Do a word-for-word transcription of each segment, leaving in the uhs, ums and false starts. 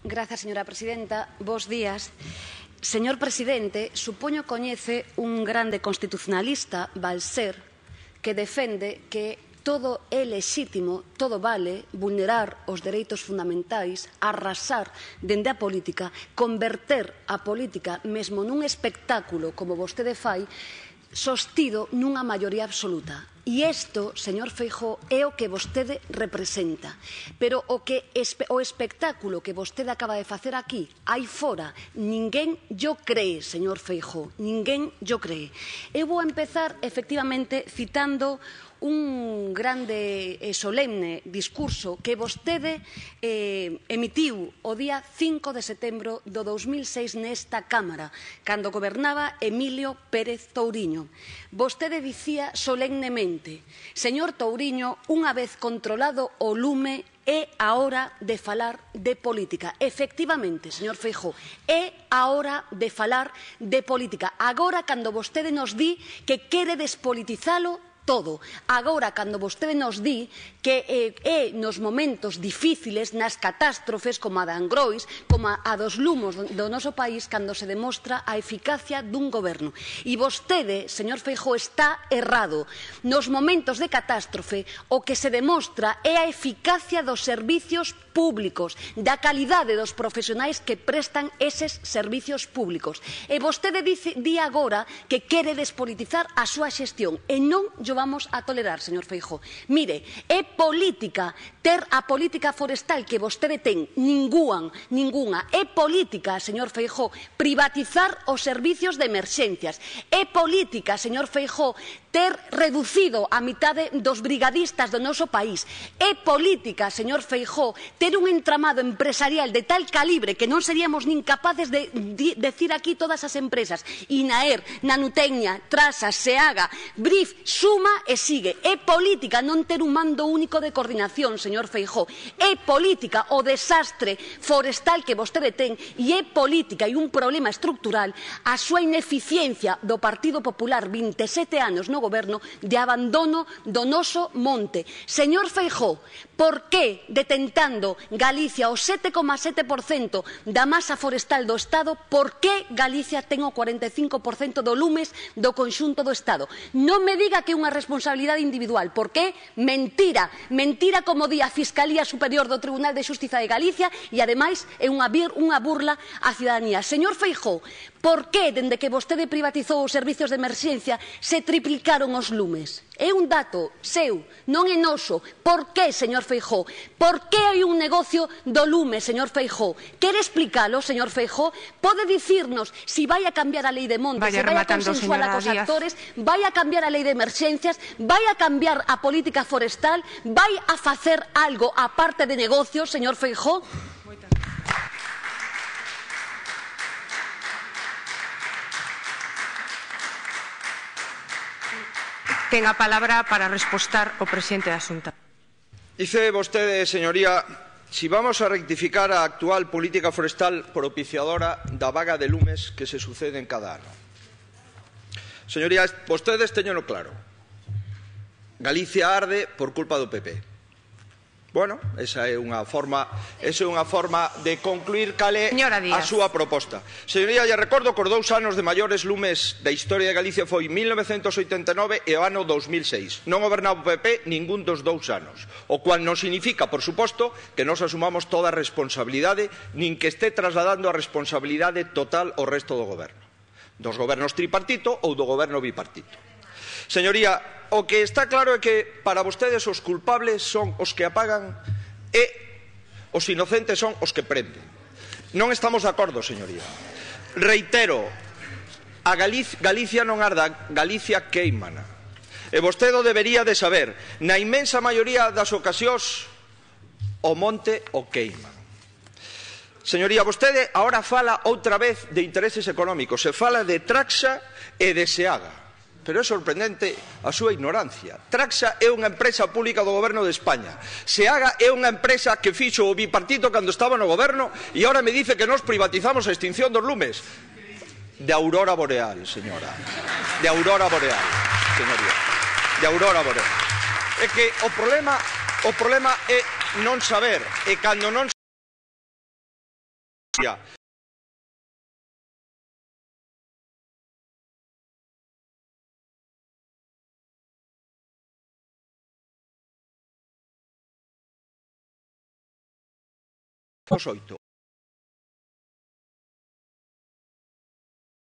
Grazas, señora presidenta. Bos días. Señor presidente, supoño coñece un grande constitucionalista, Balser, que defende que todo é lexítimo, todo vale, vulnerar os dereitos fundamentais, arrasar dende a política, converter a política mesmo nun espectáculo como vostede fai, sostido nunha maioría absoluta. E isto, señor Feijóo, é o que vostede representa. Pero o, que, o espectáculo que vostede acaba de facer aquí, aí fora, ninguén yo cree, señor Feijóo, ninguén yo cree. Eu vou empezar, efectivamente, citando un grande e solemne discurso que vostede eh, emitiu o día cinco de setembro do dous mil seis nesta Cámara, cando gobernaba Emilio Pérez Touriño. Vostede dicía solemnemente: señor Touriño, unha vez controlado o lume, é a hora de falar de política. Efectivamente, señor Feijóo, é a hora de falar de política. Agora, cando vostede nos di que quere despolitizalo todo. Agora, cando vostede nos di que eh, é nos momentos difíciles, nas catástrofes como a de Angrois, como a, a dos lumos do, do noso país, cando se demostra a eficacia dun goberno. E vostede, señor Feijóo, está errado. Nos momentos de catástrofe, o que se demostra é a eficacia dos servicios públicos, da calidade dos profesionais que prestan eses servicios públicos. E vostede dice, di agora que quere despolitizar a súa xestión, e non yo vamos a tolerar, señor Feijóo. Mire, é política ter a política forestal que vostede ten, ningún, ninguna. É política, señor Feijóo, privatizar os servicios de emerxencias. É política, señor Feijóo, ter reducido a mitade dos brigadistas do noso país. É política, señor Feijóo, ter un entramado empresarial de tal calibre que non seríamos nin capaces de decir aquí todas as empresas. INAER, Nanutecnia, Trasa, SEAGA, BRIF, Suma e sigue. É política non ter un mando único de coordinación, señor Feijóo. É política o desastre forestal que vostede ten, e é política e un problema estructural a súa ineficiencia do Partido Popular, vinte e sete anos no goberno, de abandono do noso monte. Señor Feijóo, por que detentando Galicia o sete coma sete por cento da masa forestal do Estado, por que Galicia ten o cuarenta e cinco por cento do lumes do conxunto do Estado? Non me diga que é unha responsabilidade individual, porque mentira, mentira como di a Fiscalía Superior do Tribunal de Xustiza de Galicia, e ademais é unha, unha burla á cidadanía. Señor Feijóo, por que, dende que vostede privatizou os servicios de emerxencia, se triplicaron os lumes? É un dato seu, non é noso. Por que, señor Feijóo? Por que hai un negocio do lume, señor Feijóo? Quere explicalo, señor Feijóo? Pode dicirnos si vai a cambiar a lei de montes, se vai a consensuar cos actores, vai a cambiar a lei de emerxencias, vai a cambiar a política forestal, vai a facer algo aparte de negocios, señor Feijóo? Ten a palabra para respostar o presidente da Xunta. Dice vostede, señoría, si vamos a rectificar a actual política forestal propiciadora da vaga de lumes que se sucede en cada ano. Señorías, vostedes teñeno claro. Galicia arde por culpa do P P. Bueno, esa é unha forma, esa é unha forma de concluir cal é a súa proposta. Señoría, lle recordo que os dous anos de maiores lumes da historia de Galicia foi mil novecentos oitenta e nove e o ano dous mil seis. Non gobernaba o P P ningún dos dous anos, o cual non significa, por suposto, que nos asumamos toda a responsabilidade, nin que este trasladando a responsabilidade total ao resto do goberno, dos gobernos tripartito ou do goberno bipartito. Señoría, o que está claro é que para vostedes os culpables son os que apagan e os inocentes son os que prenden. Non estamos de acordo, señoría. Reitero, a Galicia, Galicia non arda, Galicia queimana. E vostede debería de saber, na inmensa maioría das ocasións, o monte o queima. Señoría, vostede agora fala outra vez de intereses económicos, se fala de Traxa e de SEAGA. Pero é sorprendente a súa ignorancia. Traxa é unha empresa pública do goberno de España. SEAGA é unha empresa que fixo o bipartito cando estaba no goberno e agora me dice que nós privatizamos a extinción dos lumes. De aurora boreal, señora. De aurora boreal, señoría. De aurora boreal. É que o problema, o problema é non saber. E cando non oito.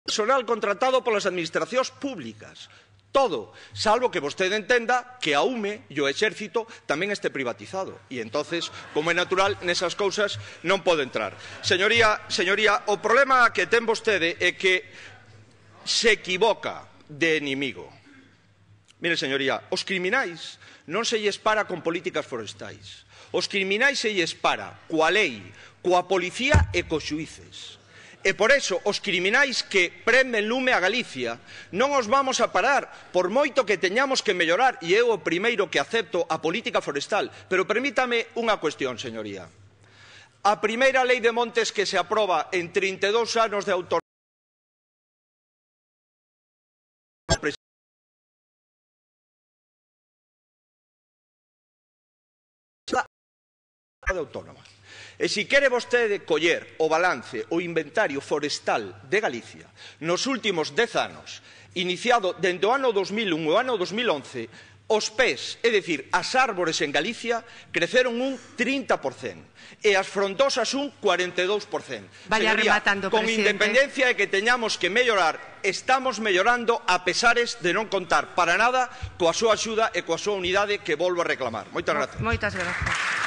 Personal contratado polas administracións públicas. Todo, salvo que vostede entenda que a U M E e o Exército tamén este privatizado. E entonces, como é natural, nesas cousas non pode entrar. Señoría, señoría, o problema que ten vostede é que se equivoca de inimigo. Mire, señoría, os criminais non se lles para con políticas forestais. Os criminais se lles para coa lei, coa policía e cos xuíces. E por eso os criminais que prenden lume a Galicia non os vamos a parar por moito que teñamos que mellorar, e eu o primeiro que acepto a política forestal. Pero permítame unha cuestión, señoría. A primeira lei de montes que se aproba en trinta e dous anos de autonomía autónoma. E se quere vostede coller o balance, o inventario forestal de Galicia nos últimos dez anos, iniciado dende o ano dos mil un e o ano dos mil once, os pés, é dicir, as árbores en Galicia, creceron un trinta por cento e as frondosas un cuarenta e dous por cento. Vaya Señoría, rematando, con presidente. independencia de que teñamos que mellorar, estamos mellorando a pesares de non contar para nada coa súa axuda e coa súa unidade que volvo a reclamar. Moitas gracias. Moitas gracias.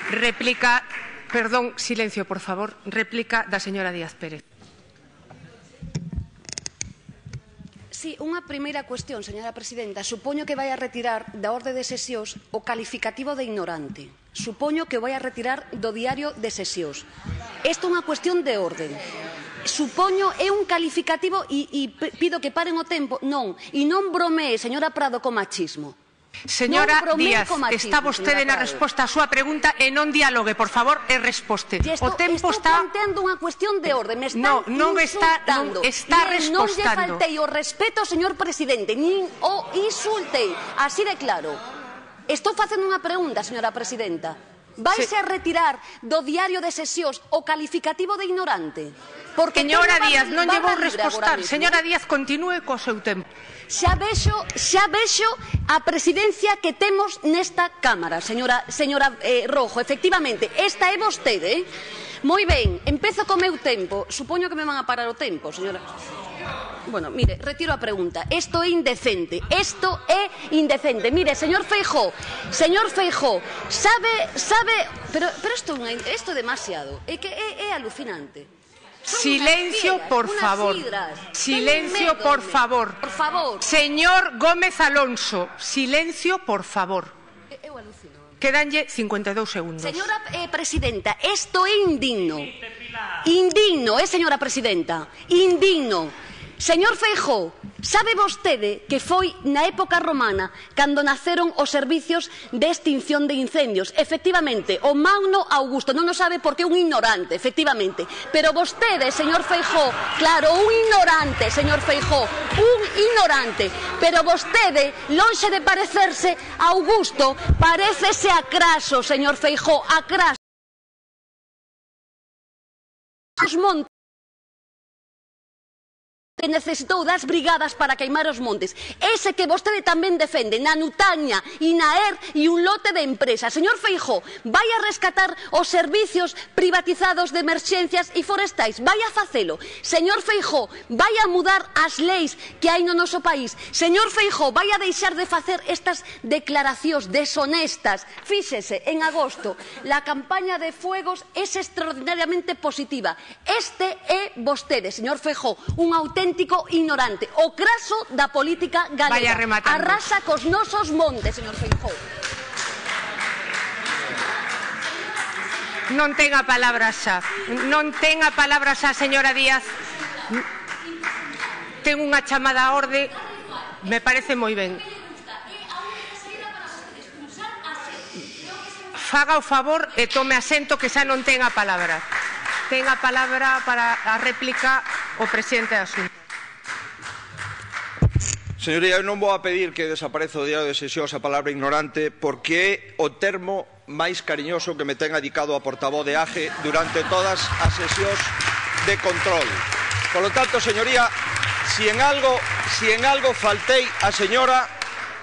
Réplica, perdón, silencio, por favor. Réplica da señora Díaz Pérez. Sí, unha primeira cuestión, señora presidenta. Supoño que vai a retirar da orde de sesións o calificativo de ignorante. Supoño que o vai a retirar do diario de sesións. Isto é unha cuestión de orden. Supoño é un calificativo e, e pido que paren o tempo. Non, e non bromee, señora Prado, con machismo. Señora Díaz, está vostede na resposta á súa pregunta e non dialogue, por favor, e resposte. O tempo está... Estou planteando unha cuestión de orde, me están no, non insultando. Está, non está respostando. Non lle faltei o respeto, señor presidente, nin o insultei, así de claro. Estou facendo unha pregunta, señora presidenta. Vaise a retirar do diario de sesións o calificativo de ignorante? Porque señora Díaz, non lle vou respostar. Señora Díaz, continúe co seu tempo. Xa vexo, xa vexo a presidencia que temos nesta Cámara, señora, señora eh, Rojo. Efectivamente, esta é vostede. Eh? Moi ben, empezo co meu tempo. Supoño que me van a parar o tempo, señora. Bueno, mire, retiro a pregunta. Isto é indecente. Isto é indecente. Mire, señor Feijóo, señor Feijóo, sabe, sabe, pero pero isto é demasiado. É que é, é alucinante. Silencio, por favor. Silencio, por favor. Por favor. Señor Gómez Alonso, silencio, por favor. Eu alucino. Quedanlle cincuenta e dous segundos. Señora eh, presidenta, isto é indigno. Indigno, eh, señora presidenta. Indigno. Señor Feijóo, sabe vostede que foi na época romana cando naceron os servicios de extinción de incendios. Efectivamente, o Magno Augusto non o sabe porque é un ignorante, efectivamente. Pero vostede, señor Feijóo, claro, un ignorante, señor Feijóo, un ignorante. Pero vostede, lonxe de parecerse a Augusto, parécese a Craso, señor Feijóo, a Craso. Os montes que necesitou das brigadas para queimar os montes. Ese que vostede tamén defende na Nutaña, Inaer e un lote de empresas. Señor Feijóo, vai a rescatar os servicios privatizados de emerxencias e forestais. Vai a facelo. Señor Feijóo, vai a mudar as leis que hai no noso país. Señor Feijóo, vai a deixar de facer estas declaracións deshonestas. Fíxese, en agosto, la campaña de fuegos é extraordinariamente positiva. Este é vostede, señor Feijóo, un auténtico ignorante, o Craso da política galega. Arrasa cos nosos montes, señor Feijóo. Non ten a palabra xa. Non ten a palabra xa, señora Díaz. Ten unha chamada a orde. Me parece moi ben. Faga o favor e tome asento que xa non ten a palabra. Ten a palabra para a réplica o presidente da Xunta. Señoría, eu non vou a pedir que desapareza o diario de sesións a palabra ignorante porque é o termo máis cariñoso que me ten adicado a portavoz de A G E durante todas as sesións de control. Por lo tanto, señoría, si en algo, si en algo faltei a señora,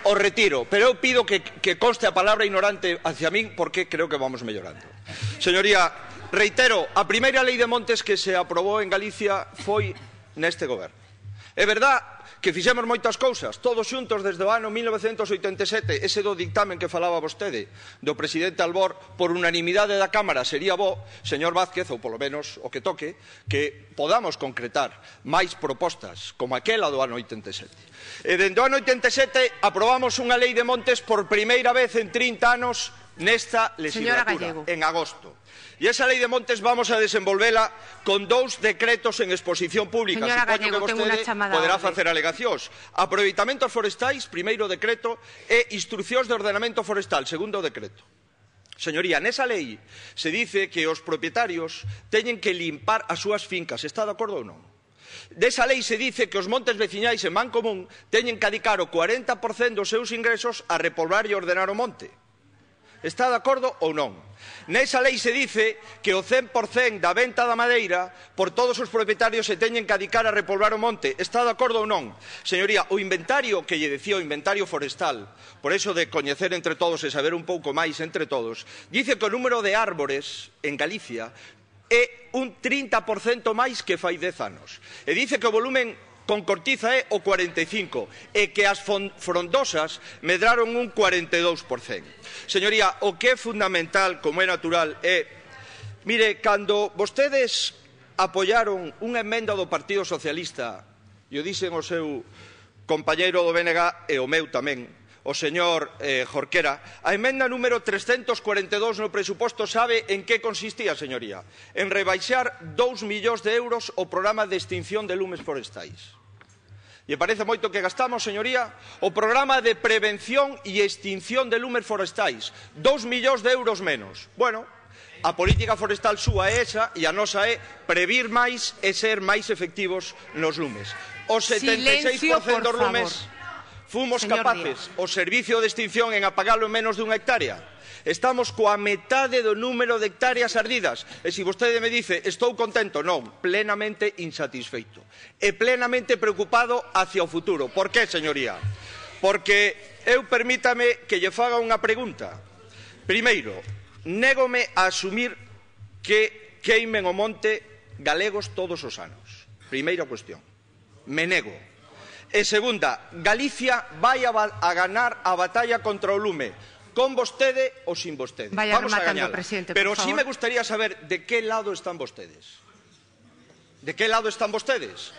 o retiro, pero eu pido que, que conste a palabra ignorante hacia min porque creo que vamos mellorando. Señoría, reitero, a primeira lei de montes que se aprobou en Galicia foi neste goberno. É verdad que fixemos moitas cousas, todos xuntos desde o ano mil novecentos oitenta e sete, ese do dictamen que falaba vostede, do presidente Albor, por unanimidade da Cámara, sería bo, señor Vázquez, ou polo menos o que toque, que podamos concretar máis propostas como aquela do ano oitenta e sete. E dende o ano oitenta e sete aprobamos unha lei de montes por primeira vez en trinta anos nesta legislatura, en agosto. E esa lei de montes vamos a desenvolvela con dous decretos en exposición pública. Señora Supoño Gallego, que vostede poderá facer alegacións. Aproveitamentos forestais, primeiro decreto, e instruccións de ordenamento forestal, segundo decreto. Señoría, nesa lei se dice que os propietarios teñen que limpar as súas fincas. Está de acordo ou non? Desa lei se dice que os montes veciñais en man común teñen que adicar o cuarenta por cento dos seus ingresos a repoblar e ordenar o monte. Está de acordo ou non? Nesa lei se dice que o cen por cento da venta da madeira por todos os propietarios se teñen que adicar a repoblar o monte. Está de acordo ou non? Señoría, o inventario que lle decía o inventario forestal, por eso de coñecer entre todos e saber un pouco máis entre todos, dice que o número de árbores en Galicia é un trinta por cento máis que fai dez anos. E dice que o volumen con cortiza é o cuarenta e cinco por cento e que as frondosas medraron un cuarenta e dous por cento. Señoría, o que é fundamental, como é natural, é... Mire, cando vostedes apoiaron unha emenda do Partido Socialista, e o dixen o seu compañeiro do B N G e o meu tamén, o señor eh, Jorquera, a emenda número trescentos cuarenta e dous no presuposto sabe en que consistía, señoría? En rebaixar dous millóns de euros o programa de extinción de lumes forestais. E parece moito que gastamos, señoría, o programa de prevención e extinción de lumes forestais. Dous millóns de euros menos. Bueno, a política forestal súa é esa e a nosa é previr máis e ser máis efectivos nos lumes. O setenta e seis por cento dos lumes fomos capaces, o servicio de extinción, en apagalo en menos dunha hectárea. Estamos coa metade do número de hectáreas ardidas. E se vostede me dice, estou contento, non, plenamente insatisfeito. E plenamente preocupado hacia o futuro. Por que, señoría? Porque eu permítame que lle faga unha pregunta. Primeiro, négome a asumir que queimen o monte galegos todos os anos. Primeira cuestión. Me nego. E segunda, Galicia vai a, a ganar a batalla contra o lume. Con vostede ou sin vostede. Vaya Vamos a gañar. Pero sí me gustaría saber de que lado están vostedes. De que lado están vostedes?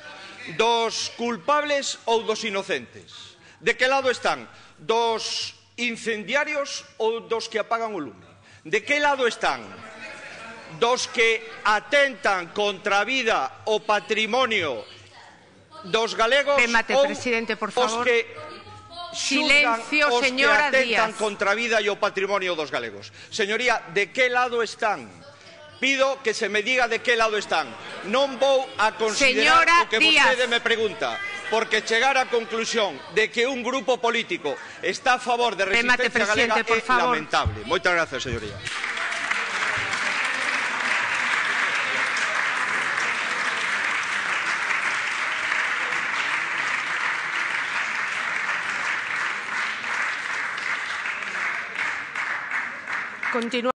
Dos culpables ou dos inocentes? De que lado están? Dos incendiarios ou dos que apagan o lume? De que lado están? Dos que atentan contra a vida o patrimonio dos galegos Remate, ou presidente, por favor. os que Silencio, os señora que atentan Díaz. contra a vida e o patrimonio dos galegos. Señoría, de que lado están? Pido que se me diga de que lado están. Non vou a considerar señora o que Díaz. vostede me pregunta, porque chegar á conclusión de que un grupo político está a favor de Remate, resistencia galega por é favor. lamentable. Moitas gracias, señoría. Continúa.